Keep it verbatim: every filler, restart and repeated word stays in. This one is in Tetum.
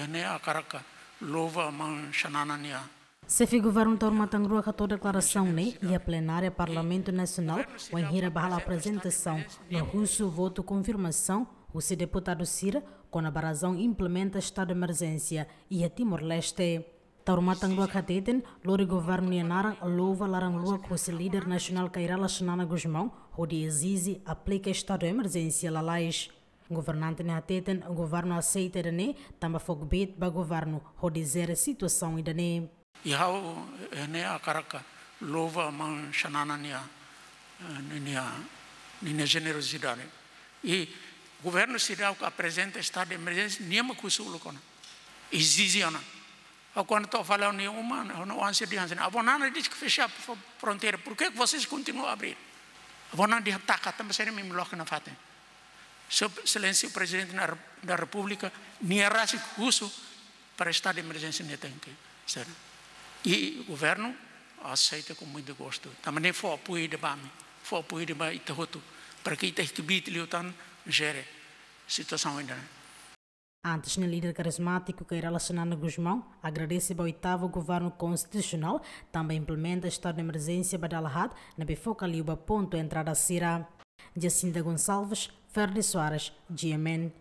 Ne'e hakarak louva maun Xanana nia. Xefe Governu Taur Matan Ruak hato'o deklarasaun ne'e iha plenária Parlamentu Nasionál, wainhira bá halo aprezentasaun no husu votu konfirmasaun husi deputadu sira kona-ba razaun implementa estadu de emerjénsia iha Timor-Leste. Taur Matan Ruak hateten, lori governu nia naran louva laran-luak husi líder nasionál Kay Rala Xanana Gusmão hodi ezije aplika estadu de emerjénsia lalais. Governante ne'e hateten, governu aseita ida-ne'e tanba fó kbiit ba governu hodi jere situasaun ida-ne'e. I ha'u, eh, ne'e hakarak louva maun Xanana nia, eh, nia, nia jenerosidade. I governu seidauk aprezenta estadu de emerjénsia, nia mak husu uluk ona. Ezije ona. Ha'u kuandu to'o fali ha'u-nia uma, ha'u-nia oan sira dehan hanesan ne'e: Avó Nana disse que fechar fro-, fronteira, por que que vocês continuam a abrir? Avó Nana dehan taka, tanba sira imi loke nafatin. Sua Exelénsia Prezidente da Re-, da Repúblika, nia rasik husu para estadu de emerjénsia ne'e tenke ser. I governu aseita com muito gosto. Tanba ne'e fó apoiu ida ba ami, fó apoiu ida ba ita hotu, para que ita iha kbiit liután jere situasaun ida-ne'e. Antes ne'e, líder karizmátiku Kay Rala Xanana Gusmão agradese ba oitavu governu konstitusionál tanba implementa estadu de emerjénsia ba dala haat, ne'ebé foka liu ba pontu entrada sira. Jacinta Gonçalves, Ferdi Soares, G M N.